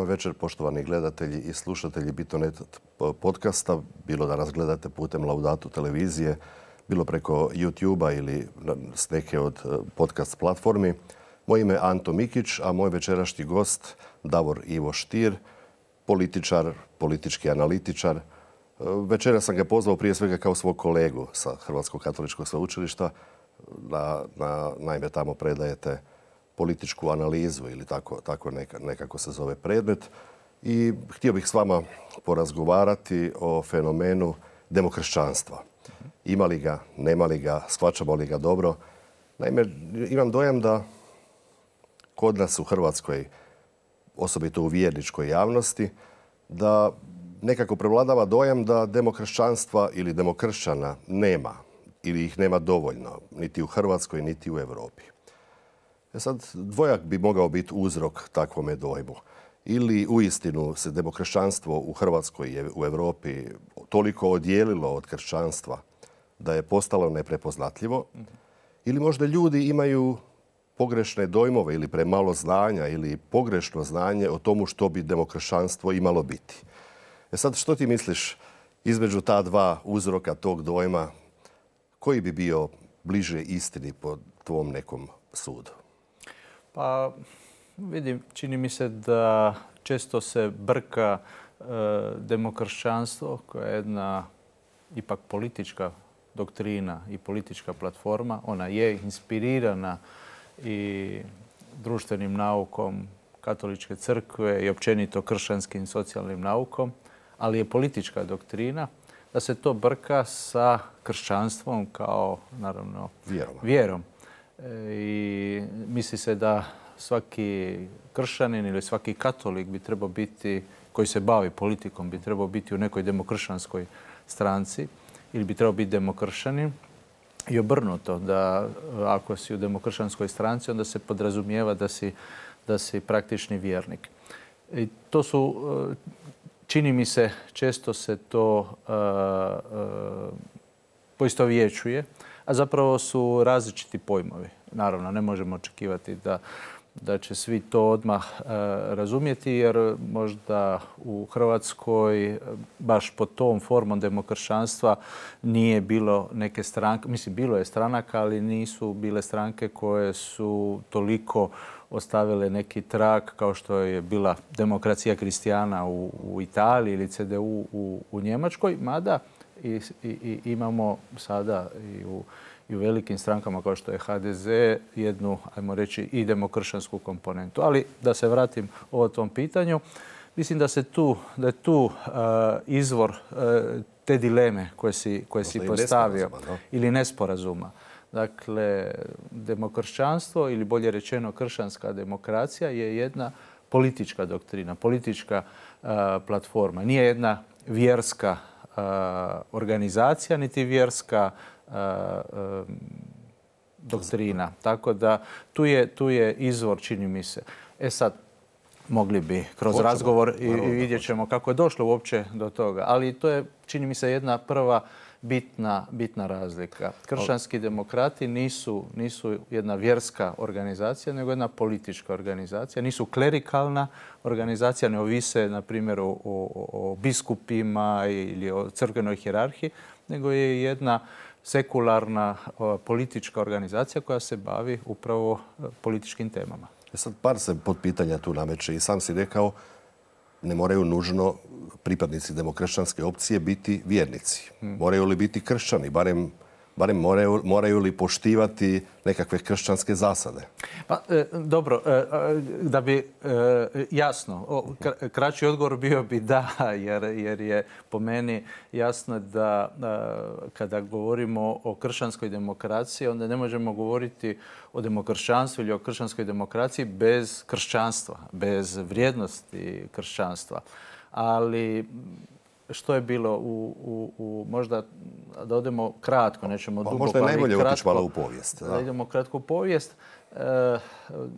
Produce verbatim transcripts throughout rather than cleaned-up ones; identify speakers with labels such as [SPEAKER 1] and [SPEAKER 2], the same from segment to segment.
[SPEAKER 1] vam večer, poštovani gledatelji i slušatelji Bitonet podcasta, bilo da nas gledate putem Laudatu televizije, bilo preko YouTube-a ili s neke od podcast platformi. Moje ime je Anto Mikić, a moj večerašnji gost Davor Ivo Stier, političar, politički analitičar. Večera sam ga pozvao prije svega kao svog kolegu sa Hrvatskog katoličkog sveučilišta. Na, na, naime, tamo predajete političku analizu ili tako, tako neka, nekako se zove predmet. I htio bih s vama porazgovarati o fenomenu demokršćanstva. Ima li ga, nema li ga, shvaćamo li ga dobro. Naime, imam dojam da kod nas u Hrvatskoj, osobito u vjerničkoj javnosti, da nekako prevladava dojam da demokršćanstva ili demokršćana nema ili ih nema dovoljno, niti u Hrvatskoj, niti u Europi. E sad, dvojak bi mogao biti uzrok takvome dojmu. Ili uistinu se demokršćanstvo u Hrvatskoj i u Europi toliko odijelilo od kršćanstva da je postalo neprepoznatljivo, ili možda ljudi imaju pogrešne dojmove ili premalo znanja ili pogrešno znanje o tomu što bi demokršćanstvo imalo biti. E sad, što ti misliš između ta dva uzroka tog dojma, koji bi bio bliže istini po tvom nekom sudu?
[SPEAKER 2] Pa vidim, čini mi se da često se brka e, demokršćanstvo, koja je jedna ipak politička doktrina i politička platforma. Ona je inspirirana i društvenim naukom Katoličke crkve i općenito kršćanskim socijalnim naukom, ali je politička doktrina, da se to brka sa kršćanstvom kao, naravno,
[SPEAKER 1] vjerom.
[SPEAKER 2] vjerom. E, I misli se da svaki kršćanin ili svaki katolik bi trebao biti, koji se bavi politikom, bi trebao biti u nekoj demokršćanskoj stranci ili bi trebao biti demokršćanin. I obrnuto, da ako si u demokršćanskoj stranci, onda se podrazumijeva da si, da si praktični vjernik. I to su, čini mi se, često se to uh, uh, poistovjećuje, a zapravo su različiti pojmovi. Naravno, ne možemo očekivati da, da će svi to odmah uh, razumjeti, jer možda u Hrvatskoj baš pod tom formom demokršćanstva nije bilo neke stranke, mislim, bilo je stranaka, ali nisu bile stranke koje su toliko ostavile neki trag kao što je bila Demokracija kristijana u, u Italiji ili C D U u, u Njemačkoj, mada i, i, i imamo sada i u, i u velikim strankama kao što je H D Z jednu, ajmo reći, i demokršćansku komponentu. Ali da se vratim o tom pitanju, mislim da se tu, da je tu uh, izvor uh, te dileme koje si, koje si postavio
[SPEAKER 1] nesporazuma, no?
[SPEAKER 2] ili nesporazuma. Dakle, demokršćanstvo ili bolje rečeno kršćanska demokracija je jedna politička doktrina, politička uh, platforma. Nije jedna vjerska uh, organizacija, niti vjerska uh, uh, doktrina. Tako da tu je, tu je izvor, čini mi se. E sad, mogli bi kroz
[SPEAKER 1] Hoćemo.
[SPEAKER 2] razgovor i,
[SPEAKER 1] Naravno,
[SPEAKER 2] i vidjet ćemo kako je došlo uopće do toga. Ali to je, čini mi se, jedna prva bitna, bitna razlika. Kršćanski demokrati nisu, nisu jedna vjerska organizacija, nego jedna politička organizacija. Nisu klerikalna organizacija, ne ovise, na primjer, o, o, o biskupima ili o crkvenoj hijerarhiji, nego je jedna sekularna o, politička organizacija koja se bavi upravo političkim temama.
[SPEAKER 1] E sad, par se podpitanja tu nameće i sam si rekao, ne moraju nužno pripadnici demokršćanske opcije biti vjernici. Hmm. Moraju li biti kršćani, barem, barem moraju, moraju li poštivati nekakve kršćanske zasade?
[SPEAKER 2] Pa, e, dobro, e, da bi e, jasno, o, kraći odgovor bio bi da, jer, jer je po meni jasno da e, kada govorimo o kršćanskoj demokraciji, onda ne možemo govoriti o demokršćanstvu ili o kršćanskoj demokraciji bez kršćanstva, bez vrijednosti kršćanstva. Ali što je bilo u, u, u možda da odemo kratko, nećemo
[SPEAKER 1] pa,
[SPEAKER 2] dugo.
[SPEAKER 1] Možda je najbolje otići malo u povijest.
[SPEAKER 2] Da, da idemo kratko u povijest. E,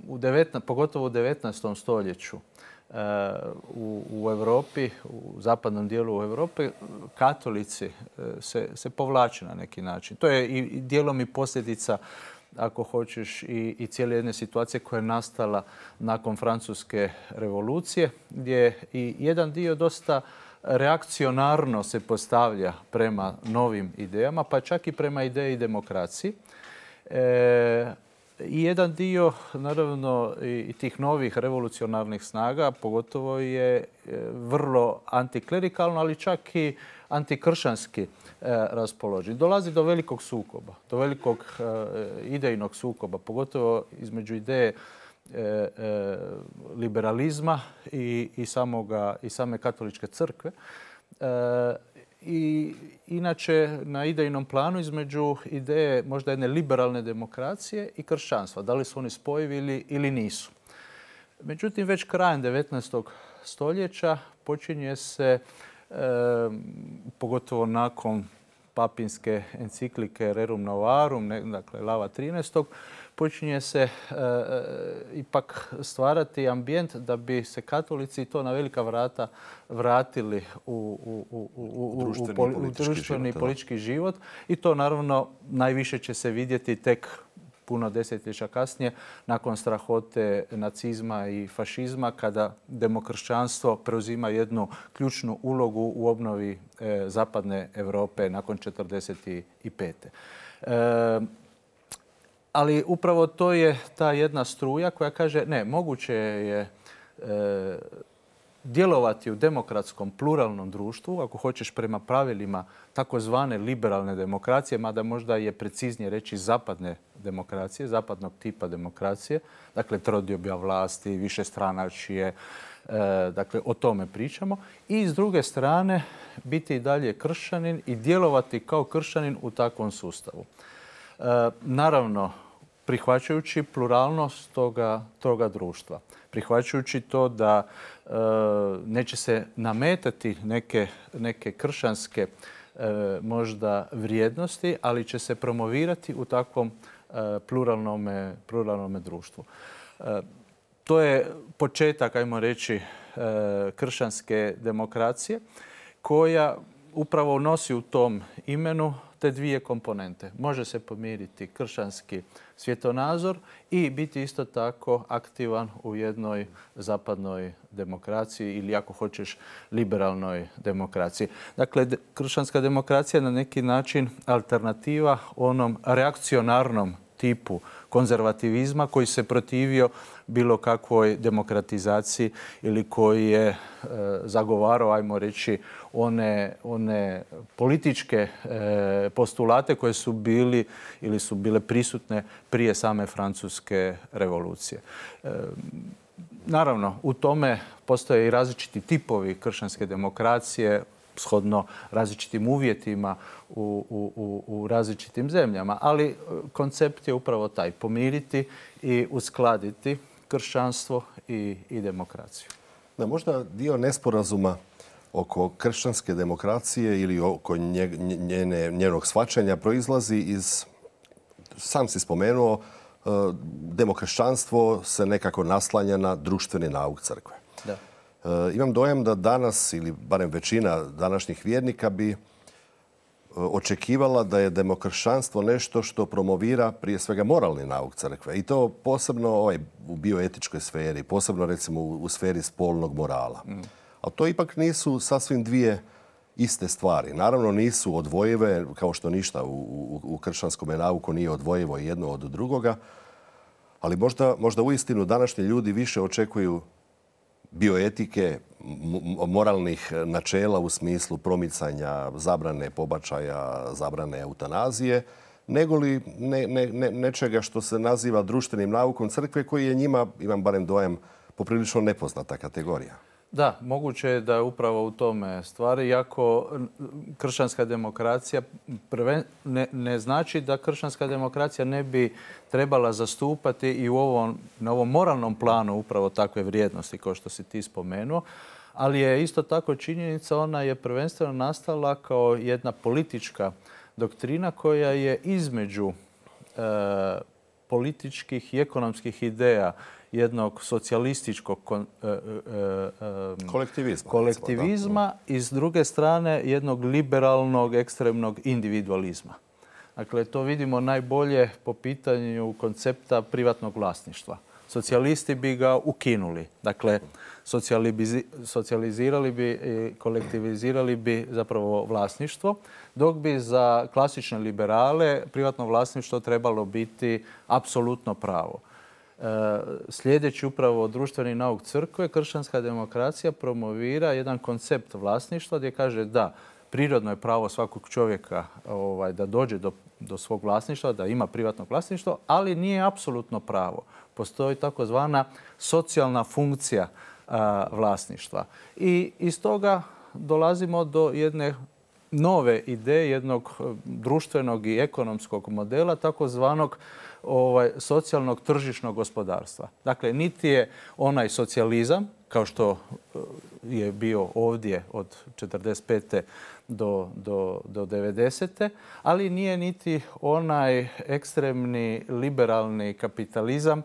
[SPEAKER 2] u devetnaestom, pogotovo u devetnaestom stoljeću e, u, u Europi, u zapadnom dijelu Europe, katolici se, se povlače na neki način. To je i dijelom i posljedica ako hoćeš, i, i cijele jedne situacije koja je nastala nakon Francuske revolucije, gdje i jedan dio dosta reakcionarno se postavlja prema novim idejama, pa čak i prema ideji demokraciji. E, I jedan dio, naravno, i tih novih revolucionarnih snaga, pogotovo je vrlo antiklerikalno, ali čak i antikršćanski raspoložen. Dolazi do velikog sukoba, do velikog idejnog sukoba, pogotovo između ideje liberalizma i, i, samoga, i same katoličke crkve. I inače na idejnom planu između ideje možda jedne liberalne demokracije i kršćanstva. Da li su oni spojivi ili, ili nisu. Međutim, već krajem devetnaestog stoljeća počinje se, e, pogotovo nakon papinske enciklike Rerum Novarum, ne, dakle Lava trinaestog, počinje se e, ipak stvarati ambijent da bi se katolici to na velika vrata vratili u, u, u, u, u društveni, u, politički, u društveni život, politički život. I to naravno najviše će se vidjeti tek puno desetljeća kasnije, nakon strahote nacizma i fašizma, kada demokršćanstvo preuzima jednu ključnu ulogu u obnovi e, zapadne Europe nakon četrdeset pete. E, ali upravo to je ta jedna struja koja kaže ne, moguće je e, djelovati u demokratskom pluralnom društvu, ako hoćeš prema pravilima takozvane liberalne demokracije, mada možda je preciznije reći zapadne demokracije, zapadnog tipa demokracije, dakle trodioba vlasti, višestranačje, e, dakle o tome pričamo. I s druge strane biti i dalje kršćanin i djelovati kao kršćanin u takvom sustavu. E, naravno, prihvaćajući pluralnost toga, toga društva. Prihvaćajući to da e, neće se nametati neke, neke kršćanske e, možda vrijednosti, ali će se promovirati u takvom e, pluralnome, pluralnome društvu. E, to je početak, ajmo reći, e, kršćanske demokracije koja upravo nosi u tom imenu te dvije komponente. Može se pomiriti kršćanski svjetonazor i biti isto tako aktivan u jednoj zapadnoj demokraciji ili, ako hoćeš, liberalnoj demokraciji. Dakle, kršćanska demokracija je na neki način alternativa onom reakcionarnom tipu konzervativizma koji se protivio bilo kakvoj demokratizaciji ili koji je e, zagovarao, ajmo reći, one, one političke e, postulate koje su bili ili su bile prisutne prije same Francuske revolucije. E, naravno, u tome postoje i različiti tipovi kršćanske demokracije, shodno različitim uvjetima u, u, u različitim zemljama. Ali koncept je upravo taj, pomiriti i uskladiti kršćanstvo i, i demokraciju.
[SPEAKER 1] Da, možda dio nesporazuma oko kršćanske demokracije ili oko njene, njenog shvaćanja proizlazi iz, sam si spomenuo, demokršćanstvo se nekako naslanja na društveni nauk crkve. Da. Imam dojam da danas, ili barem većina današnjih vjernika, bi očekivala da je demokršćanstvo nešto što promovira prije svega moralni nauk crkve. I to posebno ovaj, u bioetičkoj sferi, posebno recimo u, u sferi spolnog morala. Mm. Ali to ipak nisu sasvim dvije iste stvari. Naravno nisu odvojive, kao što ništa u, u, u kršćanskom nauku nije odvojivo jedno od drugoga. Ali možda, možda uistinu današnji ljudi više očekuju bioetike, moralnih načela u smislu promicanja zabrane pobačaja, zabrane eutanazije, nego li ne, ne, ne, nečega što se naziva društvenim naukom crkve, koji je njima, imam barem dojam, poprilično nepoznata kategorija.
[SPEAKER 2] Da, moguće je da je upravo u tome stvari, iako kršćanska demokracija prven, ne, ne znači da kršćanska demokracija ne bi trebala zastupati i u ovom, na ovom moralnom planu upravo takve vrijednosti kao što si ti spomenuo, ali je isto tako činjenica, ona je prvenstveno nastala kao jedna politička doktrina koja je između e, političkih i ekonomskih ideja jednog socijalističkog kon, e, e, e,
[SPEAKER 1] kolektivizma,
[SPEAKER 2] kolektivizma i s druge strane jednog liberalnog ekstremnog individualizma. Dakle, to vidimo najbolje po pitanju koncepta privatnog vlasništva. Socijalisti bi ga ukinuli. Dakle, socijalizirali bi i kolektivizirali bi zapravo vlasništvo, dok bi za klasične liberale privatno vlasništvo trebalo biti apsolutno pravo. Slijedeći upravo društveni nauk crkve, kršćanska demokracija promovira jedan koncept vlasništva gdje kaže da prirodno je pravo svakog čovjeka ovaj, da dođe do, do svog vlasništva, da ima privatno vlasništvo, ali nije apsolutno pravo. Postoji takozvana socijalna funkcija a, vlasništva. I iz toga dolazimo do jedne nove ideje, jednog društvenog i ekonomskog modela, takozvanog ovaj, socijalnog tržišnog gospodarstva. Dakle, niti je onaj socijalizam, kao što je bio ovdje od četrdeset pete do, do, do devedesete, ali nije niti onaj ekstremni liberalni kapitalizam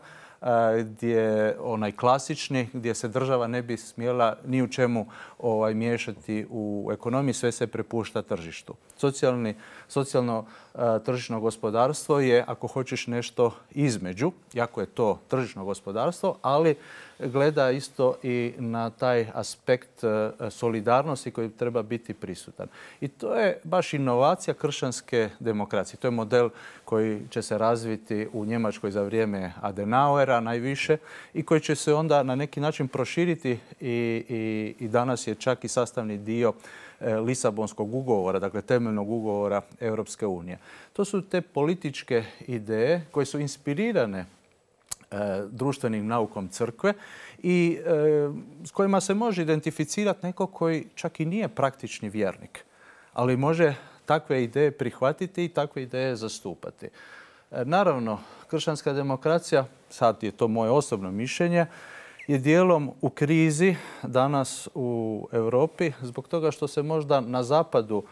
[SPEAKER 2] gdje onaj klasični, gdje se država ne bi smjela ni u čemu ovaj, miješati u ekonomiji, sve se prepušta tržištu. Socijalni, socijalno a, tržišno gospodarstvo je, ako hoćeš, nešto između, jako je to tržišno gospodarstvo, ali gleda isto i na taj aspekt a, solidarnosti koji treba biti prisutan. I to je baš inovacija kršćanske demokracije. To je model koji će se razviti u Njemačkoj za vrijeme Adenauera najviše i koji će se onda na neki način proširiti i, i, i danas je čak i sastavni dio Lisabonskog ugovora, dakle temeljnog ugovora Europske unije. To su te političke ideje koje su inspirirane e, društvenim naukom crkve i e, s kojima se može identificirati neko koji čak i nije praktični vjernik, ali može takve ideje prihvatiti i takve ideje zastupati. E, naravno, kršćanska demokracija, sad je to moje osobno mišljenje, je dijelom u krizi danas u Europi zbog toga što se možda na zapadu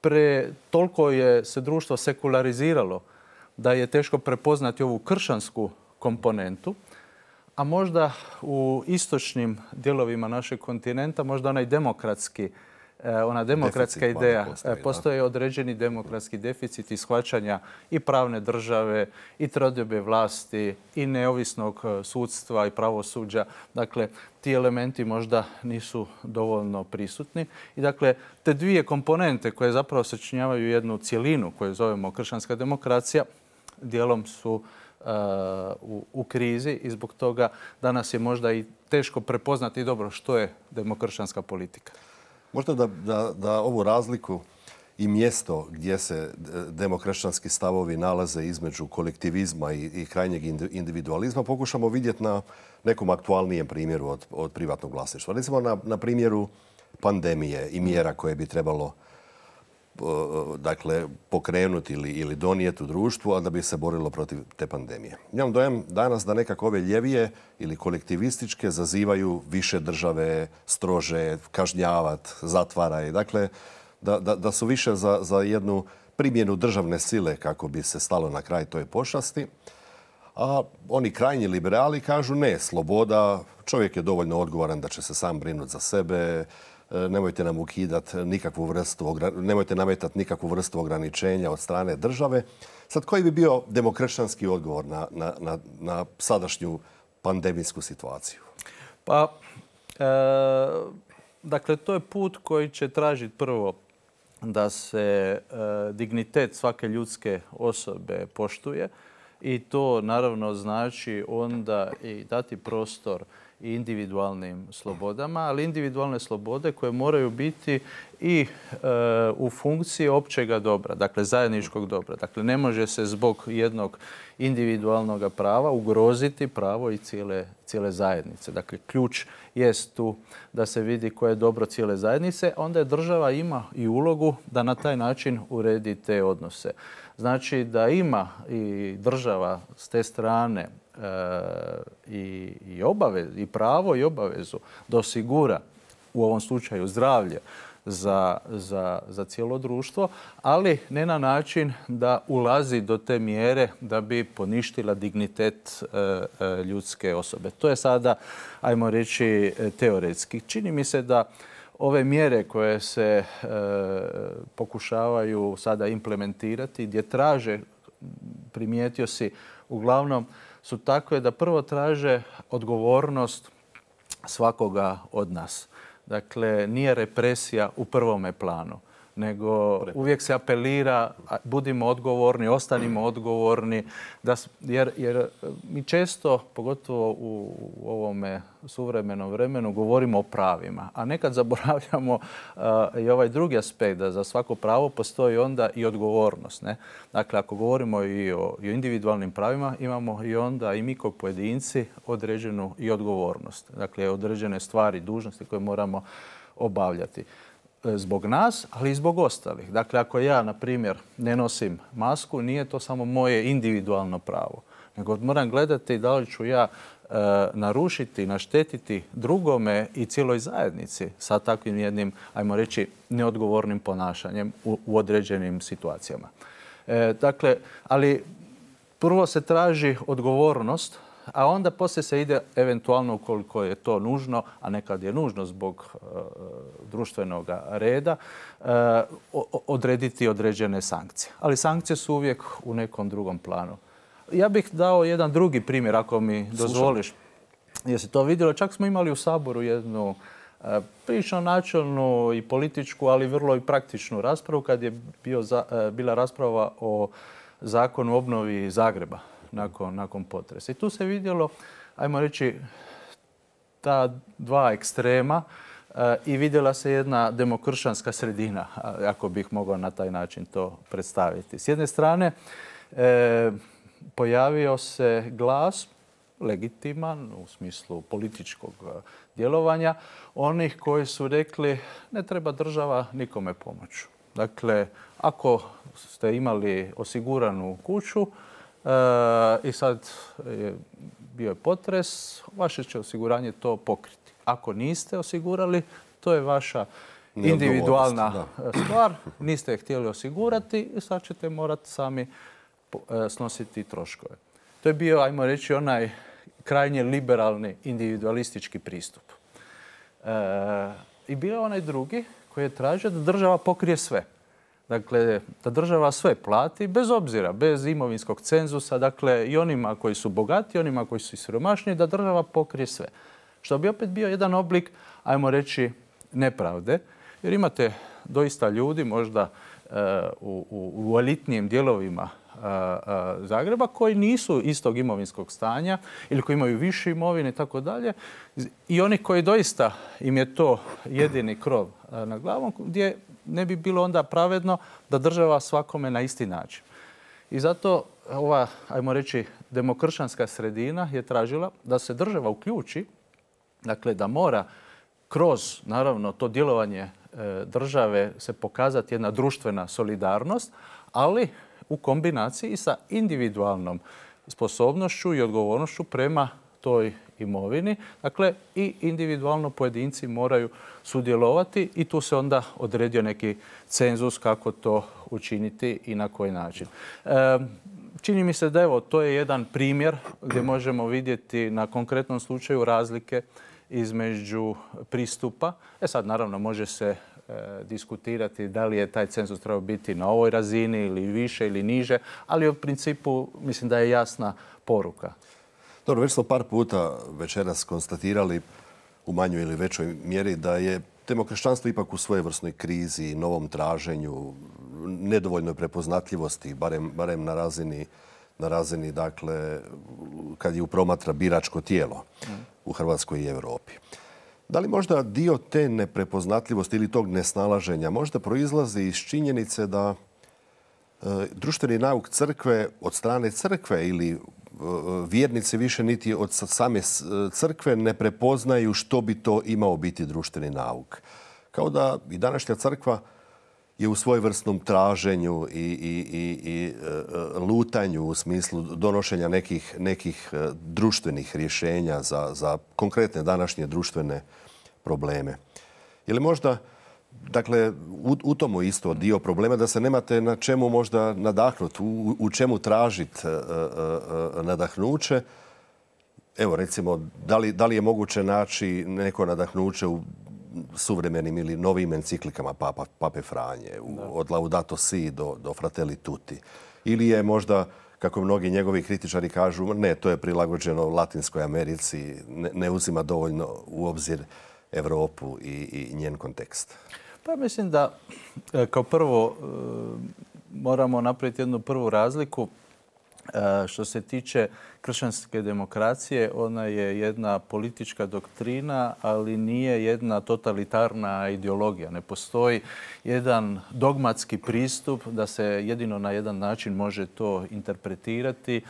[SPEAKER 2] pre, toliko je se društvo sekulariziralo da je teško prepoznati ovu kršćansku komponentu, a možda u istočnim dijelovima našeg kontinenta možda onaj demokratski ona demokratska deficit ideja. Postoji, postoji određeni demokratski deficit i shvaćanja i pravne države, i trodiobe vlasti, i neovisnog sudstva i pravosuđa. Dakle, ti elementi možda nisu dovoljno prisutni. I dakle, te dvije komponente koje zapravo sačinjavaju jednu cjelinu koju zovemo kršćanska demokracija, dijelom su uh, u, u krizi i zbog toga danas je možda i teško prepoznati dobro što je demokršćanska politika.
[SPEAKER 1] Možda da, da, da ovu razliku i mjesto gdje se demokršćanski stavovi nalaze između kolektivizma i, i krajnjeg individualizma pokušamo vidjeti na nekom aktualnijem primjeru od, od privatnog vlasništva. Recimo na, na primjeru pandemije i mjera koje bi trebalo dakle, pokrenuti ili, ili donijeti u društvu, a da bi se borilo protiv te pandemije. Imam dojam danas da nekako ove ljevije ili kolektivističke zazivaju više države, strože, kažnjavati, zatvaraj. Dakle, da, da, da su više za, za jednu primjenu državne sile kako bi se stalo na kraj toj pošasti. A oni krajnji liberali kažu ne, sloboda, čovjek je dovoljno odgovoran da će se sam brinuti za sebe, nemojte nam ukidati nikakvu vrstu, nemojte nametati nikakvu vrstu ograničenja od strane države. Sad, koji bi bio demokršćanski odgovor na, na, na, na sadašnju pandemijsku situaciju?
[SPEAKER 2] Pa, e, dakle, to je put koji će tražiti prvo da se e, dignitet svake ljudske osobe poštuje i to naravno znači onda i dati prostor i individualnim slobodama, ali individualne slobode koje moraju biti i e, u funkciji općega dobra, dakle zajedničkog dobra. Dakle, ne može se zbog jednog individualnog prava ugroziti pravo i cijele, cijele zajednice. Dakle, ključ jest tu da se vidi koje je dobro cijele zajednice, onda je država ima i ulogu da na taj način uredi te odnose. Znači da ima i država s te strane i, i, obavez, i pravo i obavezu da osigura u ovom slučaju zdravlje za, za, za cijelo društvo, ali ne na način da ulazi do te mjere da bi poništila dignitet e, e, ljudske osobe. To je sada, ajmo reći, teoretski. Čini mi se da ove mjere koje se e, pokušavaju sada implementirati, gdje traže, primijetio si, uglavnom su takve da prvo traže odgovornost svakoga od nas. Dakle, nije represija u prvome planu, nego uvijek se apelira, budimo odgovorni, ostanimo odgovorni, da, jer, jer mi često, pogotovo u, u ovome suvremenom vremenu, govorimo o pravima, a nekad zaboravljamo uh, i ovaj drugi aspekt, da za svako pravo postoji onda i odgovornost. Ne? Dakle, ako govorimo i o, i o individualnim pravima, imamo i onda i mi kao pojedinci određenu i odgovornost. Dakle, određene stvari, dužnosti koje moramo obavljati. Zbog nas, ali i zbog ostalih. Dakle, ako ja, na primjer, ne nosim masku, nije to samo moje individualno pravo, nego moram gledati da li ću ja e, narušiti, naštetiti drugome i cijeloj zajednici sa takvim jednim, ajmo reći, neodgovornim ponašanjem u, u određenim situacijama. E, dakle, ali prvo se traži odgovornost, a onda poslije se ide eventualno, ukoliko je to nužno, a nekad je nužno zbog e, društvenog reda, e, odrediti određene sankcije. Ali sankcije su uvijek u nekom drugom planu. Ja bih dao jedan drugi primjer, ako mi dozvoliš. Jesi to vidjelo? Čak smo imali u Saboru jednu e, prilično načelnu i političku, ali vrlo i praktičnu raspravu kad je bio za, e, bila rasprava o zakonu o obnovi Zagreba. Nakon, nakon potresa. I tu se vidjelo, ajmo reći, ta dva ekstrema e, i vidjela se jedna demokršćanska sredina, ako bih mogao na taj način to predstaviti. S jedne strane, e, pojavio se glas, legitiman u smislu političkog djelovanja, onih koji su rekli ne treba država nikome pomoći. Dakle, ako ste imali osiguranu kuću, i sad je bio je potres, vaše će osiguranje to pokriti. Ako niste osigurali, to je vaša individualna stvar, niste je htjeli osigurati i sad ćete morati sami snositi troškove. To je bio, ajmo reći, onaj krajnje liberalni individualistički pristup. E, I bio je onaj drugi koji je tražio da država pokrije sve. Dakle, da država sve plati, bez obzira, bez imovinskog cenzusa, dakle i onima koji su bogati, onima koji su siromašni, da država pokrije sve. Što bi opet bio jedan oblik, ajmo reći, nepravde, jer imate doista ljudi, možda uh, u, u, u elitnijim dijelovima uh, uh, Zagreba, koji nisu istog imovinskog stanja ili koji imaju više imovine i tako dalje, i oni koji doista im je to jedini krov uh, na glavom, gdje ne bi bilo onda pravedno da država svakome na isti način. I zato ova, ajmo reći, demokršćanska sredina je tražila da se država uključi, dakle da mora kroz, naravno, to djelovanje e, države se pokazati jedna društvena solidarnost, ali u kombinaciji sa individualnom sposobnošću i odgovornošću prema toj imovini. Dakle, i individualno pojedinci moraju sudjelovati i tu se onda odredio neki cenzus kako to učiniti i na koji način. E, čini mi se da evo, to je jedan primjer gdje možemo vidjeti na konkretnom slučaju razlike između pristupa. E sad, naravno, može se e, diskutirati da li je taj cenzus trebao biti na ovoj razini ili više ili niže, ali u principu mislim da je jasna poruka.
[SPEAKER 1] Dobro, već smo par puta večeras konstatirali u manjoj ili većoj mjeri da je demokršćanstvo ipak u svojevrsnoj krizi, novom traženju, nedovoljnoj prepoznatljivosti, barem, barem na razini, na razini, dakle, kad je u promatra biračko tijelo u Hrvatskoj i Europi. Da li možda dio te neprepoznatljivosti ili tog nesnalaženja možda proizlazi iz činjenice da e, društveni nauk crkve od strane crkve ili vjernici više niti od same crkve ne prepoznaju što bi to imao biti društveni nauk. Kao da i današnja crkva je u svojevrsnom traženju i, i, i, i lutanju u smislu donošenja nekih, nekih društvenih rješenja za, za konkretne današnje društvene probleme. Je li možda, dakle, u, u tomu isto dio problema da se nemate na čemu možda nadahnuti, u, u čemu tražiti uh, uh, nadahnuće. Evo, recimo, da li, da li je moguće naći neko nadahnuće u suvremenim ili novim enciklikama Papa, Pape Franje, u, od Laudato Si do, do Fratelli Tutti. Ili je možda, kako mnogi njegovi kritičari kažu, ne, to je prilagođeno Latinskoj Americi, ne, ne uzima dovoljno u obzir Europu i, i njen kontekst?
[SPEAKER 2] Pa mislim da kao prvo moramo napraviti jednu prvu razliku. Što se tiče kršćanske demokracije, ona je jedna politička doktrina, ali nije jedna totalitarna ideologija. Ne postoji jedan dogmatski pristup da se jedino na jedan način može to interpretirati.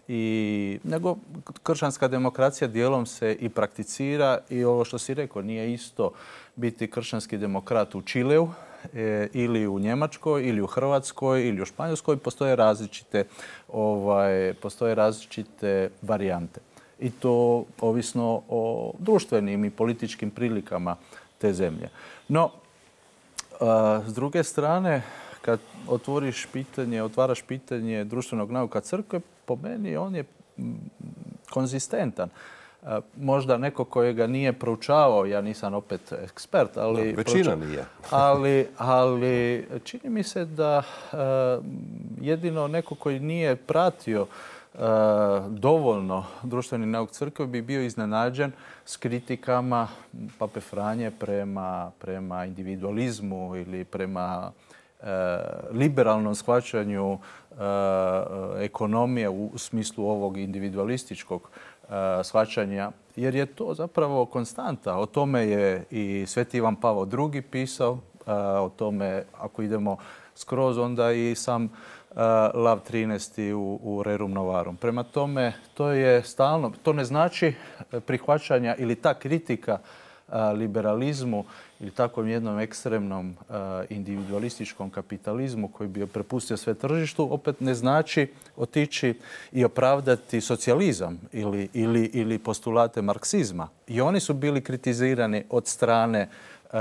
[SPEAKER 2] I, nego kršćanska demokracija dijelom se i prakticira i ovo što si rekao, nije isto biti kršćanski demokrat u Čileu e, ili u Njemačkoj ili u Hrvatskoj ili u Španjolskoj. Postoje različite, ovaj, postoje različite varijante. I to ovisno o društvenim i političkim prilikama te zemlje. No, a, s druge strane, kad otvoriš pitanje, otvaraš pitanje društvenog nauka crkve, po meni on je konzistentan. Možda neko koji ga nije proučavao, ja nisam opet ekspert, ali...
[SPEAKER 1] No, većina nije.
[SPEAKER 2] ali, ali čini mi se da uh, jedino neko koji nije pratio uh, dovoljno društveni nauk crkve bi bio iznenađen s kritikama Pape Franje prema, prema individualizmu ili prema liberalnom shvaćanju ekonomije u smislu ovog individualističkog shvaćanja, jer je to zapravo konstanta. O tome je i Sveti Ivan Pavao drugi pisao, o tome ako idemo skroz onda i sam Lav trinaesti u, u Rerum Novarum. Prema tome, to je stalno, to ne znači prihvaćanja ili ta kritika liberalizmu ili takvom jednom ekstremnom individualističkom kapitalizmu koji bi prepustio sve tržištu, opet ne znači otići i opravdati socijalizam ili, ili, ili postulate marksizma. I oni su bili kritizirani od strane uh,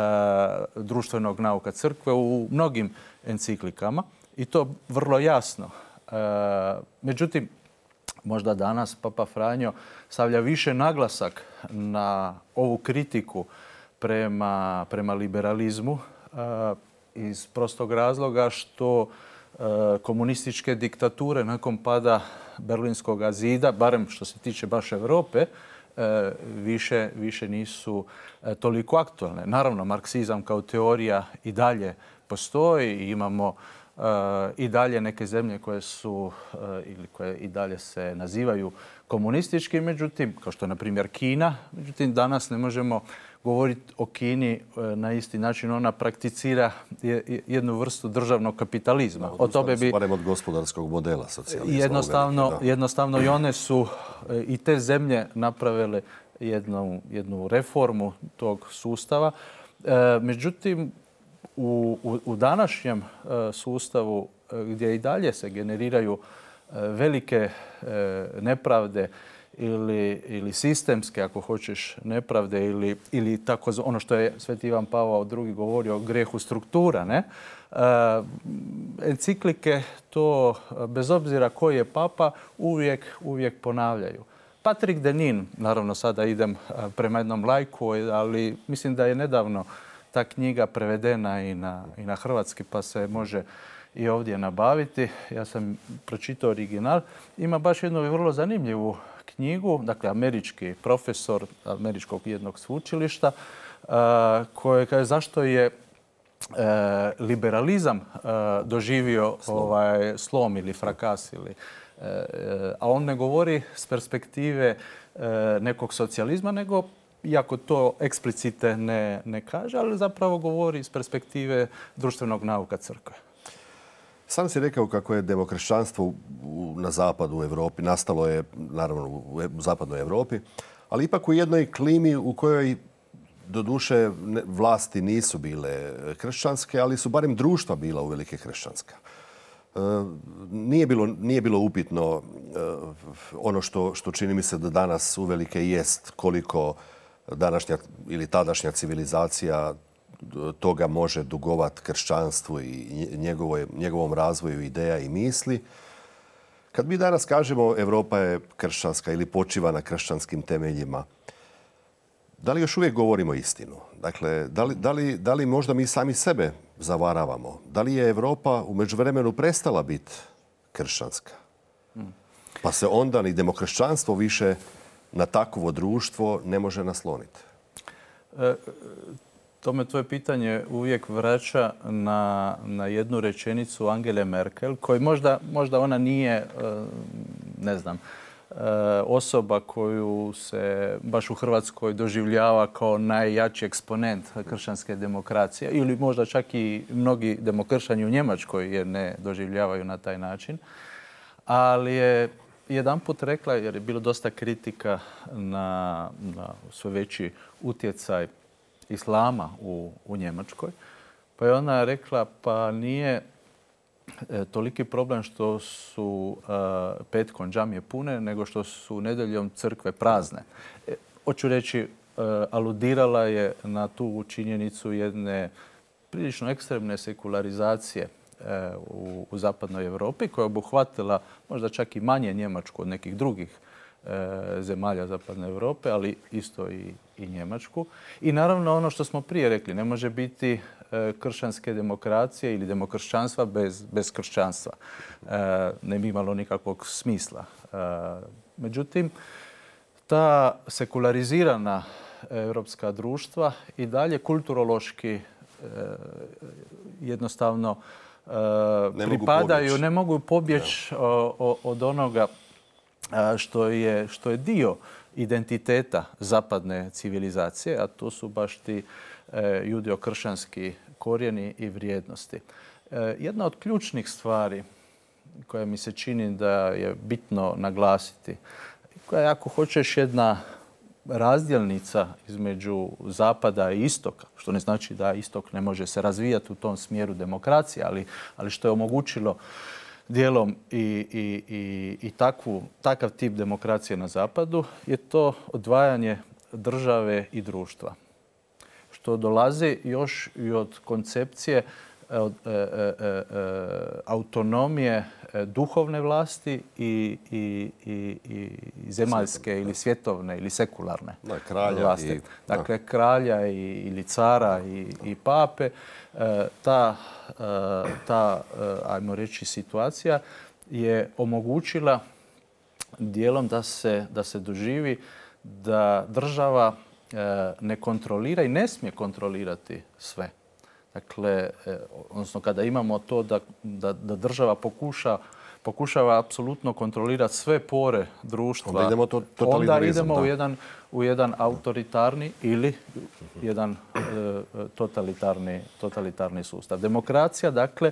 [SPEAKER 2] društvenog nauka crkve u mnogim enciklikama i to vrlo jasno. Uh, međutim, možda danas Papa Franjo stavlja više naglasak na ovu kritiku prema, prema liberalizmu uh, iz prostog razloga što uh, komunističke diktature nakon pada Berlinskog zida, barem što se tiče baš Europe, uh, više, više nisu uh, toliko aktualne. Naravno, marksizam kao teorija i dalje postoji i imamo Uh, i dalje neke zemlje koje su uh, ili koje i dalje se nazivaju komunistički, međutim, kao što je na primjer Kina, međutim danas ne možemo govoriti o Kini uh, na isti način. Ona prakticira je, jednu vrstu državnog kapitalizma.
[SPEAKER 1] Da, o tome bi barem od gospodarskog modela socijalizma.
[SPEAKER 2] Jednostavno,
[SPEAKER 1] veliki,
[SPEAKER 2] jednostavno i one su uh, i te zemlje napravile jednu, jednu reformu tog sustava. Uh, međutim, U, u, u današnjem e, sustavu e, gdje i dalje se generiraju e, velike e, nepravde ili, ili sistemske, ako hoćeš, nepravde ili, ili tako ono što je Sveti Ivan Pavao drugi govorio o grehu struktura, ne? E, enciklike to, bez obzira koji je papa, uvijek, uvijek ponavljaju. Patrick Denin, naravno sada idem prema jednom lajku, ali mislim da je nedavno ta knjiga prevedena i na, i na hrvatski, pa se može i ovdje nabaviti. Ja sam pročitao original. Ima baš jednu vrlo zanimljivu knjigu, dakle američki profesor američkog jednog sveučilišta, koji kaže zašto je liberalizam doživio slom, ovaj, slom ili frakas. Ili, a on ne govori s perspektive nekog socijalizma, nego iako to eksplicite ne, ne kaže, ali zapravo govori iz perspektive društvenog nauka crkve.
[SPEAKER 1] Sam si rekao kako je demokršćanstvo na zapadu u Europi, nastalo je naravno u zapadnoj Europi, ali ipak u jednoj klimi u kojoj doduše vlasti nisu bile kršćanske, ali su barem društva bila uvelike kršćanska. Nije bilo, nije bilo upitno ono što, što čini mi se da danas uvelike jest koliko današnja ili tadašnja civilizacija toga može dugovat kršćanstvu i njegovoj, njegovom razvoju ideja i misli. Kad mi danas kažemo Europa je kršćanska ili počiva na kršćanskim temeljima, da li još uvijek govorimo istinu? Dakle, da li, da li, da li možda mi sami sebe zavaravamo? Da li je Europa u međuvremenu prestala biti kršćanska? Pa se onda ni demokršćanstvo više na takvo društvo ne može nasloniti.
[SPEAKER 2] E, to me tvoje pitanje uvijek vraća na, na jednu rečenicu Angele Merkel, koju možda, možda ona nije, ne znam, osoba koju se baš u Hrvatskoj doživljava kao najjači eksponent kršćanske demokracije ili možda čak i mnogi demokršćani u Njemačkoj jer ne doživljavaju na taj način. Ali je jedanput rekla, jer je bilo dosta kritika na, na sve veći utjecaj islama u, u Njemačkoj, pa je ona rekla pa nije e, toliki problem što su e, petkom džamije pune, nego što su nedjeljom crkve prazne. E, hoću reći, e, aludirala je na tu činjenicu jedne prilično ekstremne sekularizacije U, u zapadnoj Europi koja je obuhvatila možda čak i manje Njemačku od nekih drugih e, zemalja zapadne Europe, ali isto i, i Njemačku. I naravno ono što smo prije rekli, ne može biti e, kršćanske demokracije ili demokršćanstva bez, bez kršćanstva. E, ne bi imalo nikakvog smisla. E, međutim, ta sekularizirana europska društva i dalje kulturološki e, jednostavno Ne pripadaju, ne mogu pobjeći od onoga što je, što je dio identiteta zapadne civilizacije, a to su baš ti judeo-kršćanski korijeni i vrijednosti. Jedna od ključnih stvari koja mi se čini da je bitno naglasiti, koja je, ako hoćeš, jedna razdjelnica između zapada i istoka, što ne znači da istok ne može se razvijati u tom smjeru demokracije, ali, ali što je omogućilo dijelom i, i, i, i takvu, takav tip demokracije na zapadu, je to odvajanje države i društva. Što dolazi još i od koncepcije od, e, e, e, autonomije duhovne vlasti i, i, i, i zemaljske ili svjetovne ili sekularne
[SPEAKER 1] da, kralja
[SPEAKER 2] vlasti.
[SPEAKER 1] I,
[SPEAKER 2] dakle, da. kralja i, ili cara i, i pape. E, ta, e, ta, ajmo reći, situacija je omogućila dijelom da se, da se doživi da država e, ne kontrolira i ne smije kontrolirati sve. Dakle, odnosno kada imamo to da, da, da država pokuša, pokušava apsolutno kontrolirati sve pore društva,
[SPEAKER 1] onda idemo, to,
[SPEAKER 2] onda idemo u, jedan, u jedan autoritarni ili jedan e, totalitarni, totalitarni sustav. Demokracija, dakle,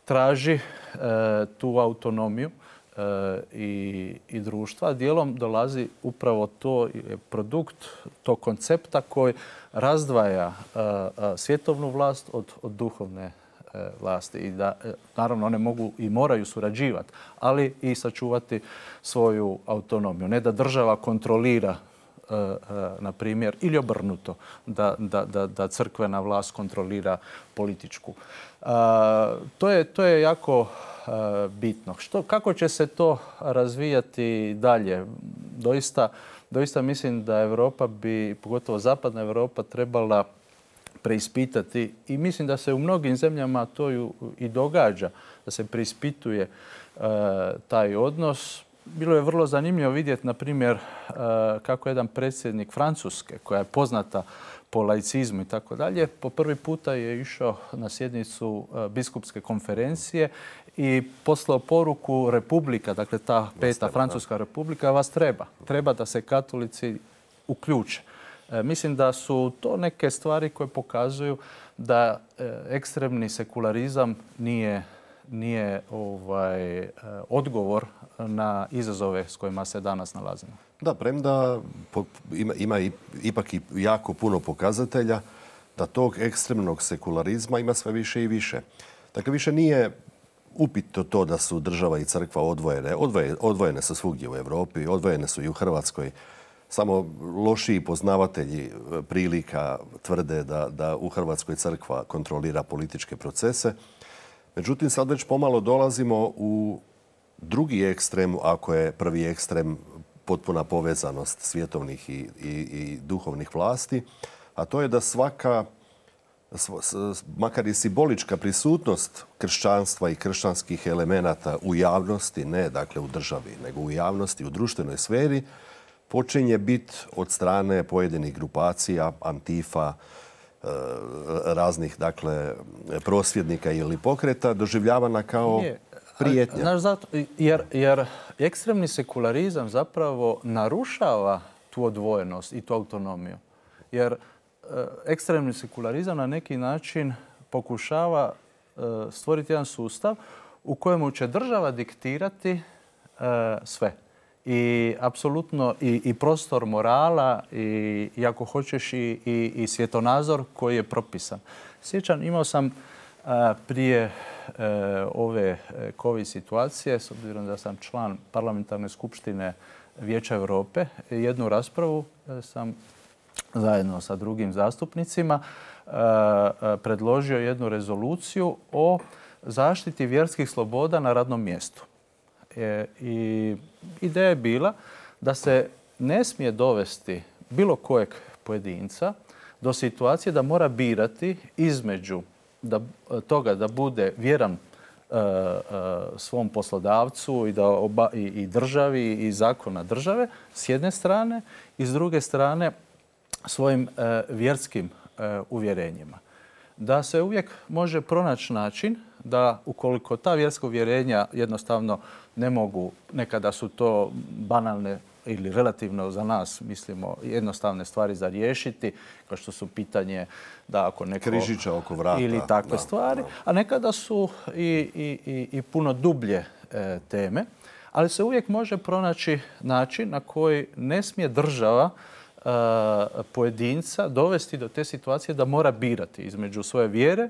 [SPEAKER 2] traži e, tu autonomiju e, i, i društva. Dijelom dolazi upravo to produkt tog koncepta koji razdvaja uh, uh, svjetovnu vlast od, od duhovne uh, vlasti. I da, uh, naravno, one mogu i moraju surađivati, ali i sačuvati svoju autonomiju. Ne da država kontrolira, uh, uh, na primjer, ili obrnuto, da, da, da, da crkvena vlast kontrolira političku. Uh, to, je, to je jako uh, bitno. Što, kako će se to razvijati dalje? Doista, Doista mislim da Europa bi, pogotovo zapadna Europa, trebala preispitati i mislim da se u mnogim zemljama to i događa, da se preispituje e, taj odnos. Bilo je vrlo zanimljivo vidjeti, na primjer, e, kako jedan predsjednik Francuske, koja je poznata po laicizmu i tako dalje, po prvi puta je išao na sjednicu e, biskupske konferencije i poslao poruku Republika, dakle ta peta Francuska republika, vas treba. Treba da se katolici uključe. E, mislim da su to neke stvari koje pokazuju da e, ekstremni sekularizam nije, nije ovaj, e, odgovor na izazove s kojima se danas nalazimo.
[SPEAKER 1] Da, premda ima, ima ipak i jako puno pokazatelja da tog ekstremnog sekularizma ima sve više i više. Dakle, više nije upitno to da su država i crkva odvojene. Odvojene, odvojene su svugdje u Europi, odvojene su i u Hrvatskoj. Samo lošiji poznavatelji prilika tvrde da, da u Hrvatskoj crkva kontrolira političke procese. Međutim, sad već pomalo dolazimo u drugi ekstrem, ako je prvi ekstrem potpuna povezanost svjetovnih i, i, i duhovnih vlasti, a to je da svaka, makar i simbolička prisutnost kršćanstva i kršćanskih elemenata u javnosti, ne dakle u državi, nego u javnosti, u društvenoj sferi, počinje biti od strane pojedinih grupacija, Antifa, raznih dakle prosvjednika ili pokreta doživljavana kao
[SPEAKER 2] Je.
[SPEAKER 1] prijetnja.
[SPEAKER 2] Znaš, zato, jer, jer ekstremni sekularizam zapravo narušava tu odvojenost i tu autonomiju. Jer ekstremni sekularizam na neki način pokušava stvoriti jedan sustav u kojemu će država diktirati sve. I apsolutno i, i prostor morala i, i ako hoćeš i, i, i svjetonazor koji je propisan. Sjećam, imao sam a, prije a, ove COVID situacije, s obzirom da sam član parlamentarne skupštine Vijeća Europe, jednu raspravu sam zajedno sa drugim zastupnicima a, a, predložio jednu rezoluciju o zaštiti vjerskih sloboda na radnom mjestu. E, I ideja je bila da se ne smije dovesti bilo kojeg pojedinca do situacije da mora birati između da, toga da bude vjeran e, e, svom poslodavcu i, da oba, i, i državi i zakona države s jedne strane i s druge strane svojim e, vjerskim e, uvjerenjima. Da se uvijek može pronaći način da ukoliko ta vjerska uvjerenja jednostavno ne mogu, nekada su to banalne ili relativno za nas, mislimo, jednostavne stvari za riješiti, kao što su pitanje da ako neko...
[SPEAKER 1] Križića oko vrata.
[SPEAKER 2] Ili takve
[SPEAKER 1] da,
[SPEAKER 2] stvari,
[SPEAKER 1] da.
[SPEAKER 2] a nekada su i, i, i, i puno dublje e, teme, ali se uvijek može pronaći način na koji ne smije država e, pojedinca dovesti do te situacije da mora birati između svoje vjere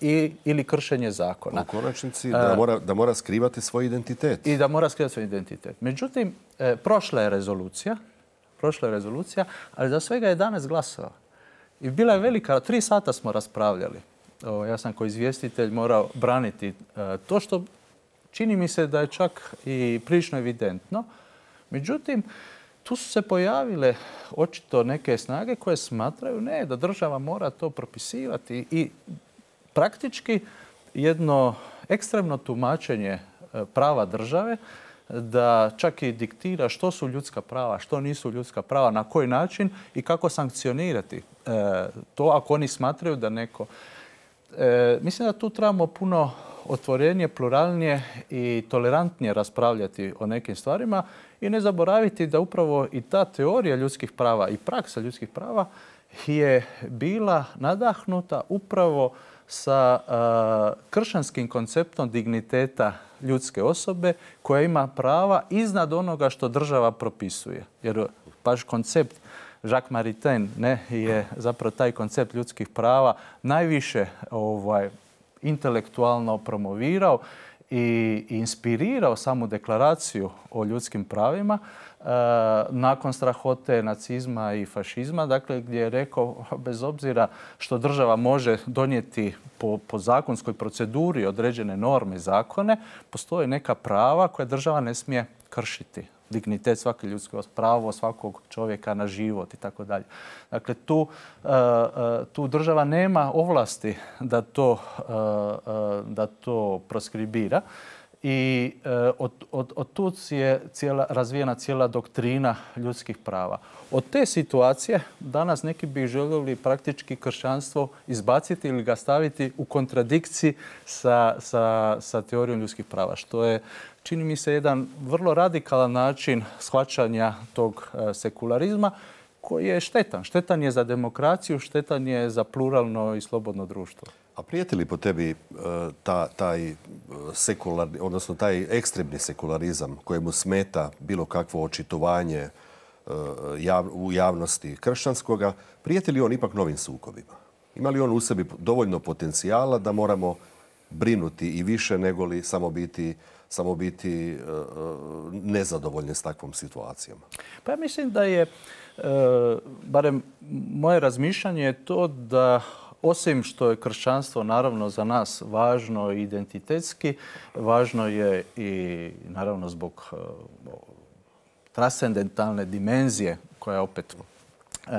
[SPEAKER 2] I, ili kršenje zakona.
[SPEAKER 1] U konačnici da mora, da mora skrivati svoj identitet.
[SPEAKER 2] I da mora skrivati svoj identitet. Međutim, e, prošla je rezolucija, prošla je rezolucija, ali za svega jedanaest glasova. I bila je velika, tri sata smo raspravljali. O, ja sam kao izvjestitelj morao braniti e, to što čini mi se da je čak i prilično evidentno. Međutim, tu su se pojavile očito neke snage koje smatraju ne, da država mora to propisivati i praktički jedno ekstremno tumačenje prava države da čak i diktira što su ljudska prava, što nisu ljudska prava, na koji način i kako sankcionirati to ako oni smatraju da neko... Mislim da tu trebamo puno otvorenije, pluralnije i tolerantnije raspravljati o nekim stvarima i ne zaboraviti da upravo i ta teorija ljudskih prava i praksa ljudskih prava je bila nadahnuta upravo sa uh, kršćanskim konceptom digniteta ljudske osobe koja ima prava iznad onoga što država propisuje. Jer baš koncept Jacques Maritain ne, je zapravo taj koncept ljudskih prava najviše ovaj, intelektualno promovirao i inspirirao samu deklaraciju o ljudskim pravima e, nakon strahote nacizma i fašizma, dakle gdje je rekao bez obzira što država može donijeti po, po zakonskoj proceduri određene norme i zakone, postoje neka prava koje država ne smije kršiti. Dignitet svake ljudske, pravo svakog čovjeka na život i tako dalje. Dakle, tu, tu država nema ovlasti da to, da to proskribira i od, od, od tu je cijela, razvijena cijela doktrina ljudskih prava. Od te situacije danas neki bi željeli praktički kršćanstvo izbaciti ili ga staviti u kontradikciji sa, sa, sa teorijom ljudskih prava, što je čini mi se jedan vrlo radikalan način shvaćanja tog sekularizma koji je štetan. Štetan je za demokraciju, štetan je za pluralno i slobodno društvo.
[SPEAKER 1] A prijeti li po tebi ta, taj sekularni, odnosno taj ekstremni sekularizam kojemu smeta bilo kakvo očitovanje jav, u javnosti kršćanskoga, prijeti li on ipak novim sukobima? Ima li on u sebi dovoljno potencijala da moramo brinuti i više nego li samo biti samo biti uh, nezadovoljni s takvom situacijom?
[SPEAKER 2] Pa ja mislim da je, uh, barem moje razmišljanje je to da osim što je kršćanstvo naravno za nas važno i identitetski, važno je i naravno zbog uh, transcendentalne dimenzije koja opet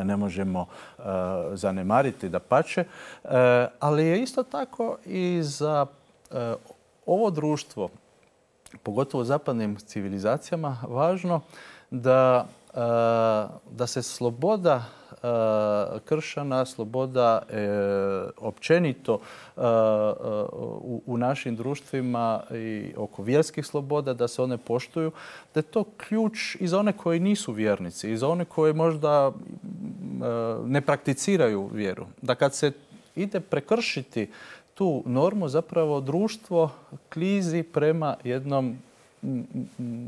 [SPEAKER 2] ne možemo uh, zanemariti, dapače, uh, ali je isto tako i za uh, ovo društvo, pogotovo u zapadnim civilizacijama, važno da, uh, da se sloboda uh, kršćana, sloboda uh, općenito uh, u, u našim društvima i oko vjerskih sloboda, da se one poštuju, da je to ključ i za one koji nisu vjernici, i za one koji možda uh, ne prakticiraju vjeru. Da kad se ide prekršiti tu normu, zapravo društvo klizi prema jednom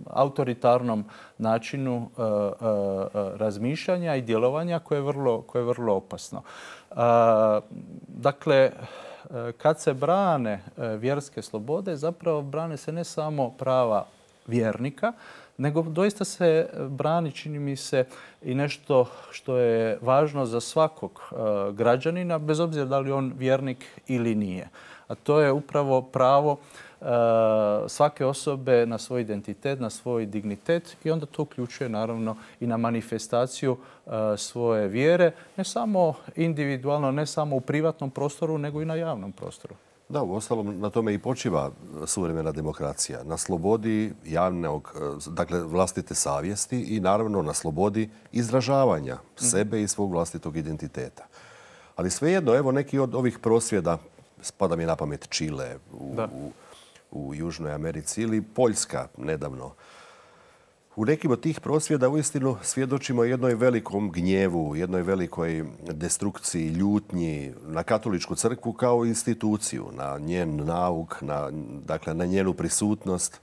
[SPEAKER 2] autoritarnom načinu uh, uh, razmišljanja i djelovanja koje je vrlo, koje je vrlo opasno. Uh, dakle, kad se brane vjerske slobode, zapravo brane se ne samo prava vjernika, nego doista se brani, čini mi se, i nešto što je važno za svakog uh, građanina, bez obzira da li on vjernik ili nije. A to je upravo pravo uh, svake osobe na svoj identitet, na svoj dignitet, i onda to uključuje naravno i na manifestaciju uh, svoje vjere, ne samo individualno, ne samo u privatnom prostoru, nego i na javnom prostoru.
[SPEAKER 1] Da, uostalom na tome i počiva suvremena demokracija. Na slobodi javnog, dakle vlastite savjesti i naravno na slobodi izražavanja sebe i svog vlastitog identiteta. Ali svejedno, evo neki od ovih prosvjeda, spada mi na pamet Čile u, u, u Južnoj Americi ili Poljska nedavno. U nekim od tih prosvjeda uistinu svjedočimo jednoj velikom gnjevu, jednoj velikoj destrukciji, ljutnji na katoličku crkvu kao instituciju, na njen nauk, na, dakle, na njenu prisutnost.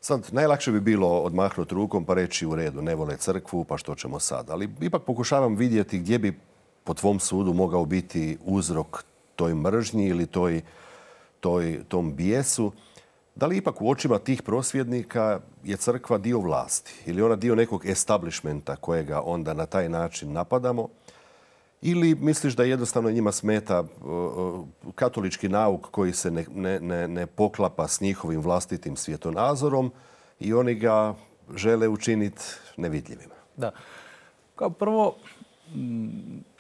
[SPEAKER 1] Sad, najlakše bi bilo odmahnuti rukom pa reći u redu, ne vole crkvu, pa što ćemo sad. Ali ipak pokušavam vidjeti gdje bi po tvom sudu mogao biti uzrok toj mržnji ili toj, toj, tom bijesu. Da li ipak u očima tih prosvjednika je crkva dio vlasti ili ona dio nekog establishmenta kojega onda na taj način napadamo? Ili misliš da jednostavno njima smeta katolički nauk koji se ne, ne, ne poklapa s njihovim vlastitim svjetonazorom i oni ga žele učiniti nevidljivima?
[SPEAKER 2] Da. Kao prvo,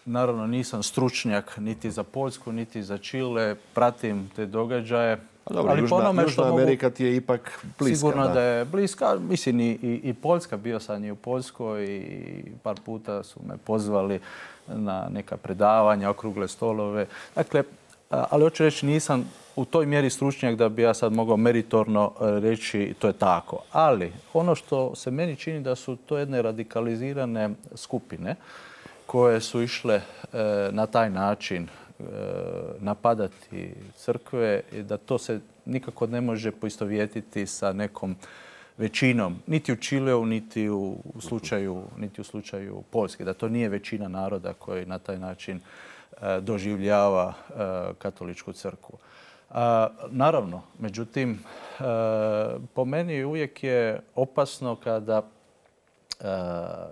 [SPEAKER 2] naravno nisam stručnjak niti za Poljsku, niti za Čile, pratim te događaje.
[SPEAKER 1] Dobro, ali Južna, Južna što Amerika ti je ipak bliska.
[SPEAKER 2] Sigurno da,
[SPEAKER 1] da
[SPEAKER 2] je bliska. Mislim i, i, i Poljska, bio sam i u Poljskoj i par puta su me pozvali na neka predavanja, okrugle stolove. Dakle, ali hoću reći nisam u toj mjeri stručnjak da bi ja sad mogao meritorno reći to je tako. Ali ono što se meni čini da su to jedne radikalizirane skupine koje su išle e, na taj način napadati crkve i da to se nikako ne može poistovjetiti sa nekom većinom, niti u Čileu, niti u slučaju, niti u slučaju Poljske, da to nije većina naroda koji na taj način doživljava katoličku crkvu. Naravno, međutim, po meni uvijek je opasno kada,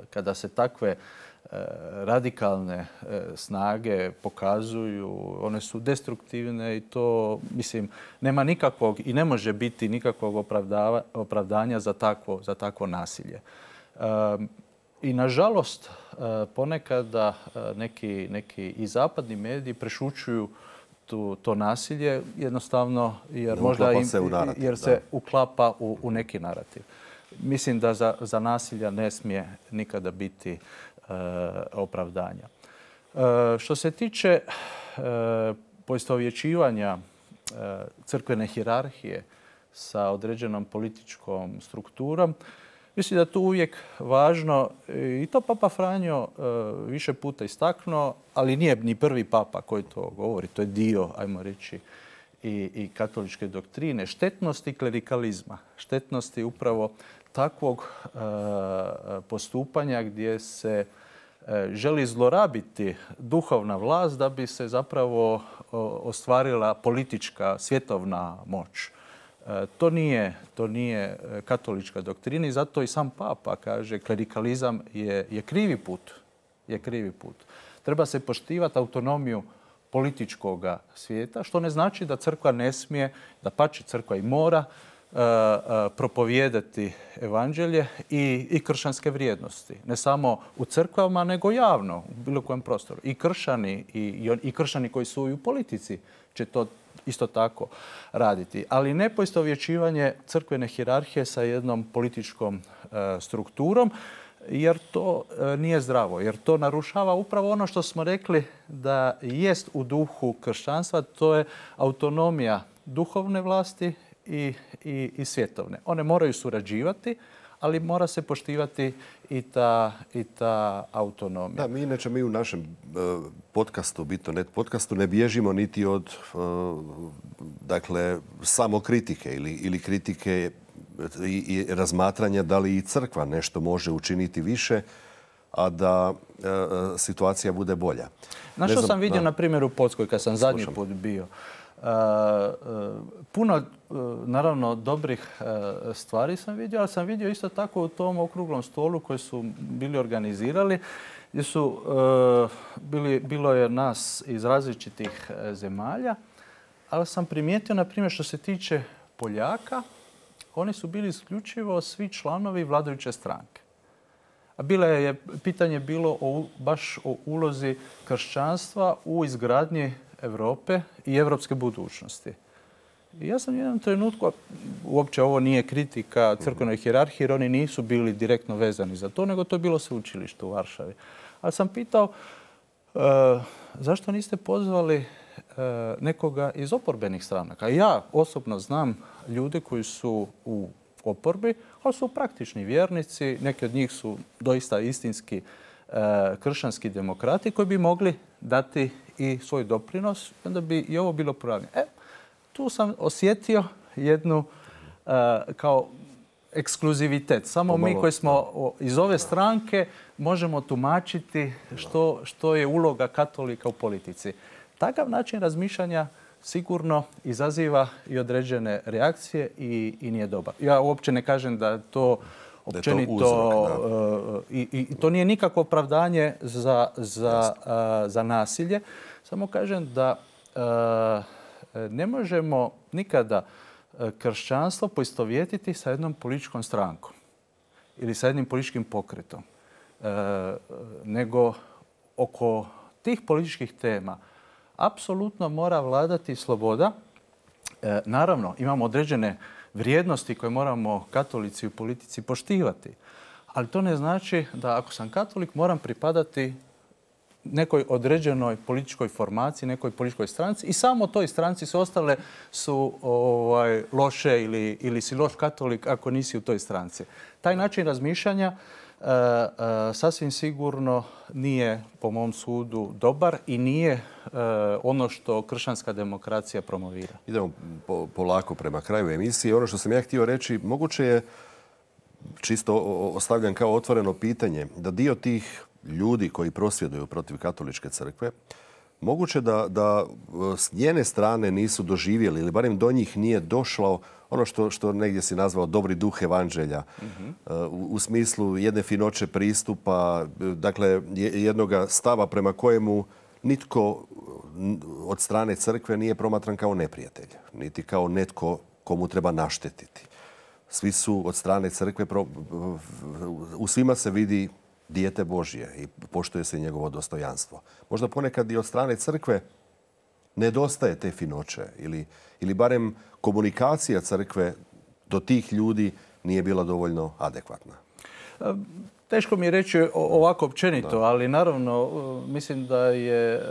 [SPEAKER 2] kada se takve radikalne snage pokazuju, one su destruktivne i to, mislim, nema nikakvog i ne može biti nikakvog opravdanja za takvo, za takvo nasilje. I nažalost, ponekada neki, neki i zapadni mediji prešućuju tu, to nasilje jednostavno jer, možda im,
[SPEAKER 1] se, narativ,
[SPEAKER 2] jer se uklapa u, u neki narativ. Mislim da za, za nasilja ne smije nikada biti opravdanja. Što se tiče poistovjećivanja crkvene hijerarhije sa određenom političkom strukturom, mislim da je tu uvijek važno, i to Papa Franjo više puta istaknuo, ali nije ni prvi papa koji to govori, to je dio, ajmo reći, i, i katoličke doktrine, štetnosti klerikalizma, štetnosti upravo takvog e, postupanja gdje se e, želi zlorabiti duhovna vlast da bi se zapravo o, ostvarila politička svjetovna moć. E, to nije, to nije katolička doktrina i zato i sam papa kaže klerikalizam je, je krivi put. Je krivi put. Treba se poštivati autonomiju političkog svijeta, što ne znači da crkva ne smije, dapače crkva i mora propovijedati evanđelje i, i kršćanske vrijednosti. Ne samo u crkvama, nego javno, u bilo kojem prostoru. I kršćani, i, i kršćani koji su i u politici će to isto tako raditi. Ali ne poistovjećivanje crkvene hijerarhije sa jednom političkom e, strukturom, jer to e, nije zdravo. Jer to narušava upravo ono što smo rekli da jest u duhu kršćanstva, to je autonomija duhovne vlasti i, i, i svjetovne. One moraju surađivati, ali mora se poštivati i ta, i ta autonomija.
[SPEAKER 1] Da, mi inače mi u našem uh, podcastu, Bitonet podcastu, ne bježimo niti od uh, dakle, samokritike ili, ili kritike i, i razmatranja da li i crkva nešto može učiniti više, a da uh, situacija bude bolja.
[SPEAKER 2] Znaš što sam vidio, da, na primjer, u Poljskoj kad sam zadnji put bio? Uh, uh, puno, uh, naravno, dobrih uh, stvari sam vidio, ali sam vidio isto tako u tom okruglom stolu koji su bili organizirali, gdje su uh, bili, bilo je nas iz različitih uh, zemalja, ali sam primijetio, na primjer, što se tiče Poljaka, oni su bili isključivo svi članovi vladajuće stranke. A bilo je, pitanje bilo o, baš o ulozi kršćanstva u izgradnji Europe i europske budućnosti. I ja sam u jednom trenutku, uopće ovo nije kritika crkvenoj hijerarhiji, jer oni nisu bili direktno vezani za to, nego to je bilo sveučilište u Varšavi. Ali sam pitao, e, zašto niste pozvali e, nekoga iz oporbenih stranaka? Ja osobno znam ljude koji su u oporbi, ali su praktični vjernici, neki od njih su doista istinski e, kršćanski demokrati koji bi mogli dati i svoj doprinos, onda bi i ovo bilo pravilno. E, tu sam osjetio jednu uh, kao ekskluzivitet. Samo Pomalo, mi koji smo o, iz ove stranke možemo tumačiti što, što je uloga katolika u politici. Takav način razmišljanja sigurno izaziva i određene reakcije i, i nije dobar. Ja uopće ne kažem da to općenito, to uzrok, i, i to nije nikakvo opravdanje za, za, uh, za nasilje. Samo kažem da uh, ne možemo nikada kršćanstvo poistovjetiti sa jednom političkom strankom ili sa jednim političkim pokretom. Uh, nego oko tih političkih tema apsolutno mora vladati sloboda. Uh, naravno, imamo određene vrijednosti koje moramo katolici u politici poštivati. Ali to ne znači da ako sam katolik moram pripadati nekoj određenoj političkoj formaciji, nekoj političkoj stranci i samo toj stranci su ostale su ovaj, loše ili, ili si loš katolik ako nisi u toj stranci. Taj način razmišljanja e, e, sasvim sigurno nije po mom sudu dobar i nije e, ono što kršćanska demokracija promovira. Idemo
[SPEAKER 1] po, polako prema kraju emisije. Ono što sam ja htio reći, moguće je, čisto ostavljam kao otvoreno pitanje, da dio tih ljudi koji prosvjeduju protiv katoličke crkve, moguće da, da s njene strane nisu doživjeli ili barem do njih nije došlo ono što, što negdje si nazvao dobri duh evanđelja, mm-hmm. u, u smislu jedne finoće pristupa, dakle jednog stava prema kojemu nitko od strane crkve nije promatran kao neprijatelj, niti kao netko komu treba naštetiti. Svi su od strane crkve, u svima se vidi dijete Božje i poštuje se njegovo dostojanstvo. Možda ponekad i od strane crkve nedostaje te finoće ili, ili barem komunikacija crkve do tih ljudi nije bila dovoljno adekvatna.
[SPEAKER 2] Teško mi je reći ovako općenito, da. Ali naravno mislim da je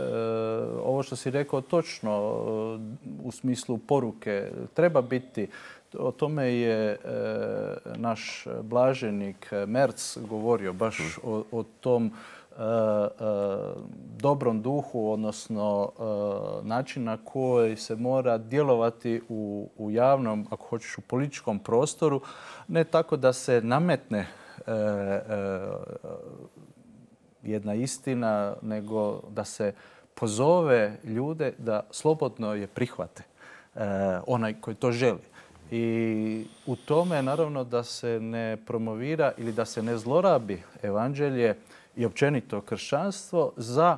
[SPEAKER 2] ovo što si rekao točno u smislu poruke. Treba biti, o tome je e, naš blaženik Merz govorio, baš o, o tom e, e, dobrom duhu, odnosno e, način na koji se mora djelovati u, u javnom, ako hoćeš u političkom prostoru, ne tako da se nametne e, e, jedna istina, nego da se pozove ljude da slobodno je prihvate, e, onaj koji to želi. I u tome naravno da se ne promovira ili da se ne zlorabi evanđelje i općenito kršćanstvo za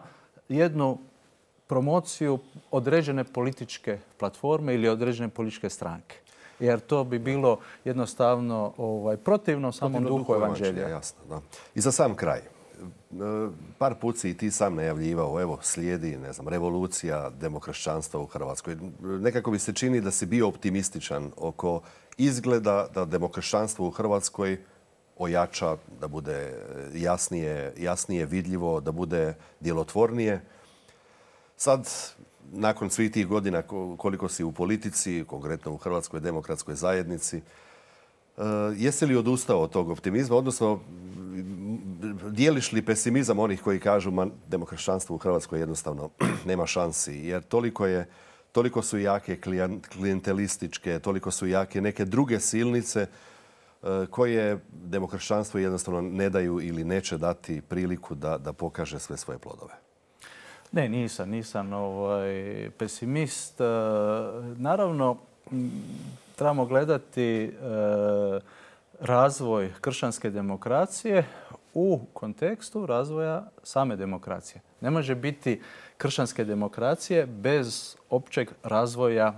[SPEAKER 2] jednu promociju određene političke platforme ili određene političke stranke. Jer to bi bilo jednostavno ovaj, protivno samom duhu evanđelja.
[SPEAKER 1] Jasno, da. I za sam kraj. Par put si i ti sam najavljivao, evo, slijedi, ne znam, revolucija demokršćanstva u Hrvatskoj. Nekako bi se čini da si bio optimističan oko izgleda da demokršćanstvo u Hrvatskoj ojača, da bude jasnije, jasnije vidljivo, da bude djelotvornije. Sad, nakon svih tih godina koliko si u politici, konkretno u Hrvatskoj demokratskoj zajednici, jesi li odustao od tog optimizma, odnosno dijeliš li pesimizam onih koji kažu da demokršćanstvo u Hrvatskoj jednostavno nema šansi, jer toliko, je, toliko su jake klijentelističke, toliko su jake neke druge silnice koje demokršćanstvo jednostavno ne daju ili neće dati priliku da, da pokaže sve svoje plodove?
[SPEAKER 2] Ne, nisam, nisam ovaj, pesimist. Naravno, trebamo gledati razvoj kršćanske demokracije u kontekstu razvoja same demokracije. Ne može biti kršćanske demokracije bez općeg razvoja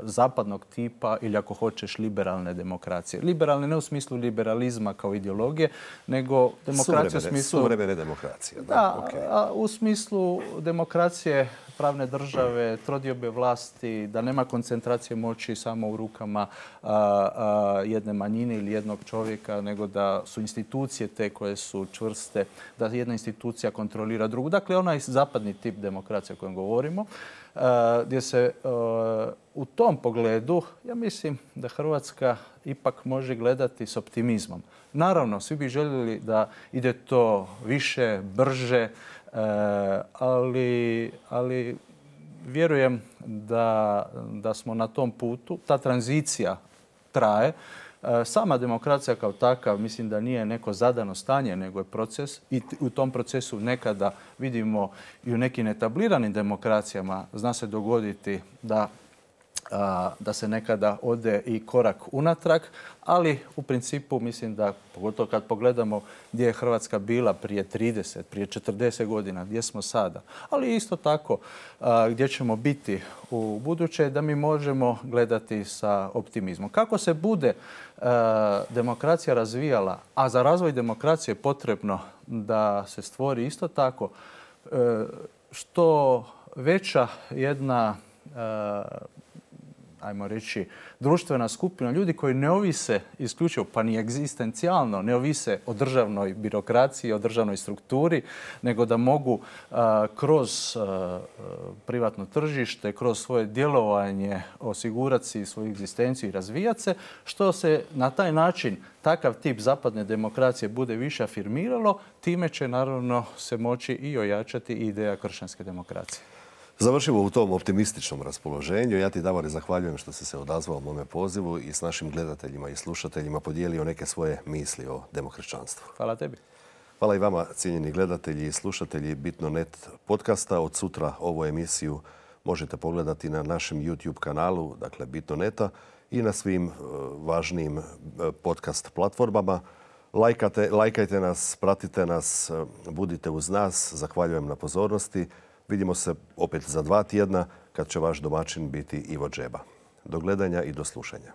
[SPEAKER 2] zapadnog tipa ili ako hoćeš liberalne demokracije. Liberalne ne u smislu liberalizma kao ideologije, nego demokracije u smislu...
[SPEAKER 1] Suvremene demokracije.
[SPEAKER 2] Da, da okay. a u smislu demokracije, pravne države, trodiobe vlasti, da nema koncentracije moći samo u rukama a, a, jedne manjine ili jednog čovjeka, nego da su institucije te koje su čvrste, da jedna institucija kontrolira drugu. Dakle, onaj zapadni tip demokracije o kojem govorimo, a, gdje se a, u tom pogledu, ja mislim da Hrvatska ipak može gledati s optimizmom. Naravno, svi bi željeli da ide to više, brže, ali, ali vjerujem da, da smo na tom putu. Ta tranzicija traje. Sama demokracija kao takav mislim da nije neko zadano stanje, nego je proces i u tom procesu nekada vidimo i u nekim etabliranim demokracijama zna se dogoditi da da se nekada ode i korak unatrag, ali u principu mislim da, pogotovo kad pogledamo gdje je Hrvatska bila prije trideset, prije četrdeset godina, gdje smo sada, ali isto tako gdje ćemo biti u buduće, da mi možemo gledati sa optimizmom. Kako se bude demokracija razvijala, a za razvoj demokracije je potrebno da se stvori isto tako što veća jedna ajmo reći, društvena skupina ljudi koji ne ovise isključivo, pa ni egzistencijalno, ne ovise o državnoj birokraciji, o državnoj strukturi, nego da mogu a, kroz a, privatno tržište, kroz svoje djelovanje osigurati si svoju egzistenciju i razvijati se, što se na taj način takav tip zapadne demokracije bude više afirmiralo, time će naravno se moći i ojačati ideja kršćanske demokracije.
[SPEAKER 1] Završimo u tom optimističnom raspoloženju. Ja ti, Davore, zahvaljujem što si se odazvao mome pozivu i s našim gledateljima i slušateljima podijelio neke svoje misli o demokršćanstvu.
[SPEAKER 2] Hvala tebi.
[SPEAKER 1] Hvala i vama, cijenjeni gledatelji i slušatelji Bitno punto net podcasta. Od sutra ovu emisiju možete pogledati na našem YouTube kanalu, dakle Bitno punto neta, i na svim važnijim podcast platformama. Lajkate, lajkajte nas, pratite nas, budite uz nas. Zahvaljujem na pozornosti. Vidimo se opet za dva tjedna kad će vaš domaćin biti Ivo Džeba. Do gledanja i do slušanja.